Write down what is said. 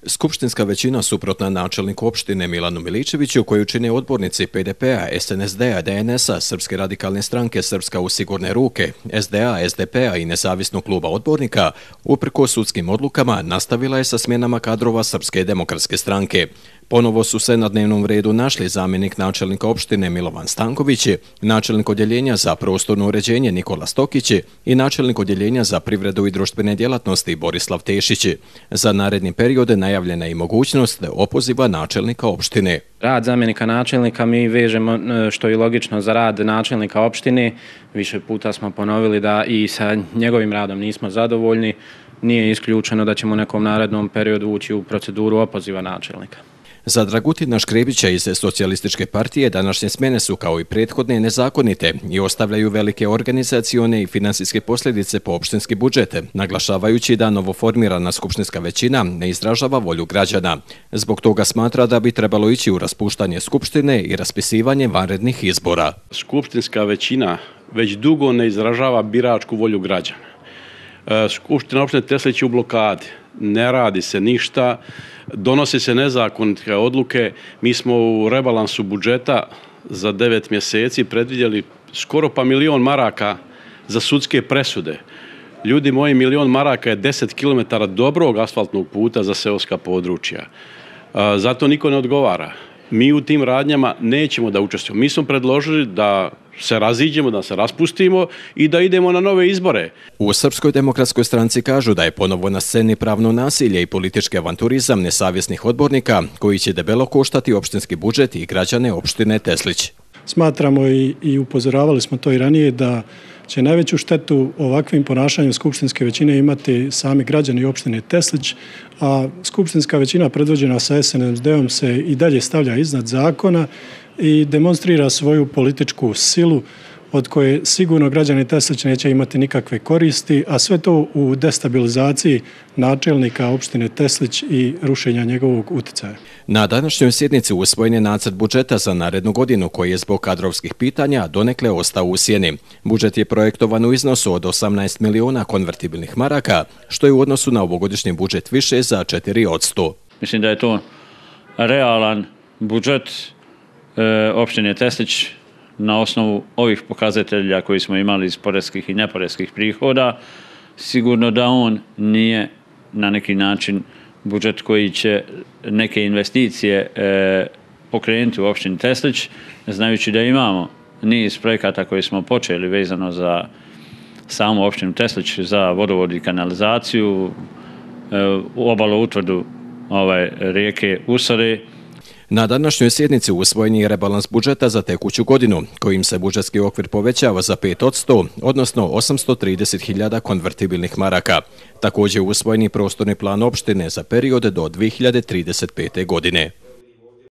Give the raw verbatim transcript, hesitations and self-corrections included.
Skupštinska većina suprotna načelniku opštine Milanu Miličeviću, koju čine odbornici P D P-a, S N S D-a, D N S-a, Srpske radikalne stranke Srpska u sigurne ruke, S D A, S D P-a i nezavisnog kluba odbornika, uprkos sudskim odlukama nastavila je sa smjenama kadrova Srpske demokratske stranke. Ponovo su se na dnevnom redu našli zamjenik načelnika opštine Milovan Stanković, načelnik odjeljenja za prostorno uređenje Nikola Stokić i načelnik odjeljenja za privredu i društvene djelatnosti Borislav Tešić. Za naredni period najavljena je i mogućnost opoziva načelnika opštine. Rad zamjenika načelnika mi vežemo, što je logično, za rad načelnika opštine. Više puta smo ponovili da i sa njegovim radom nismo zadovoljni. Nije isključeno da ćemo u nekom narednom periodu ući u proceduru opoziva načelnika. Za Dragutina Škrebića iz Socijalističke partije današnje smjene su kao i prethodne nezakonite i ostavljaju velike organizacione i finansijske posljedice po opštinski budžet, naglašavajući da novoformirana skupštinska većina ne izražava volju građana. Zbog toga smatra da bi trebalo ići u raspuštanje skupštine i raspisivanje vanrednih izbora. Skupštinska većina već dugo ne izražava biračku volju građana. Skupština opštine Teslić je u blokadi, ne radi se ništa, donose se nezakonite odluke. Mi smo u rebalansu budžeta za devet mjeseci predvidjeli skoro pa milion maraka za sudske presude. Ljudi moji, milion maraka je deset kilometara dobrog asfaltnog puta za seoska područja. Zato niko ne odgovara. Mi u tim radnjama nećemo da učestvujemo. Mi smo predložili da se raziđemo, da se raspustimo i da idemo na nove izbore. U Srpskoj demokratskoj stranci kažu da je ponovo na sceni pravno nasilje i politički avanturizam nesavjesnih odbornika koji će debelo koštati opštinski budžet i građane opštine Teslić. Smatramo i, i upozoravali smo to i ranije da će najveću štetu ovakvim ponašanjem skupštinske većine imati sami građani opštine Teslić, a skupštinska većina predvođena sa S N S D-om se i dalje stavlja iznad zakona i demonstrira svoju političku silu od koje sigurno građani Teslić neće imati nikakve koristi, a sve to u destabilizaciji načelnika opštine Teslić i rušenja njegovog uticaja. Na današnjoj sjednici usvojen je nacrt budžeta za narednu godinu koji je zbog kadrovskih pitanja donekle ostao u sjeni. Budžet je projektovan u iznosu od osamnaest miliona konvertibilnih maraka, što je u odnosu na ovogodišnji budžet više za četiri posto. Mislim da je to realan budžet e, opštine Teslić na osnovu ovih pokazatelja koji smo imali iz poreskih i neporeskih prihoda. Sigurno da on nije na neki način budžet koji će neke investicije e, pokrenuti u opštini Teslić, znajući da imamo niz projekata koji smo počeli vezano za samu opštinu Teslić, za vodovod i kanalizaciju, e, u obalo utvrdu ovaj, rijeke Usore. Na današnjoj sjednici usvojen je rebalans budžeta za tekuću godinu, kojim se budžetski okvir povećava za pet posto, odnosno osamsto trideset hiljada konvertibilnih maraka. Također usvojen je prostorni plan opštine za period do dvije hiljade trideset pete. godine.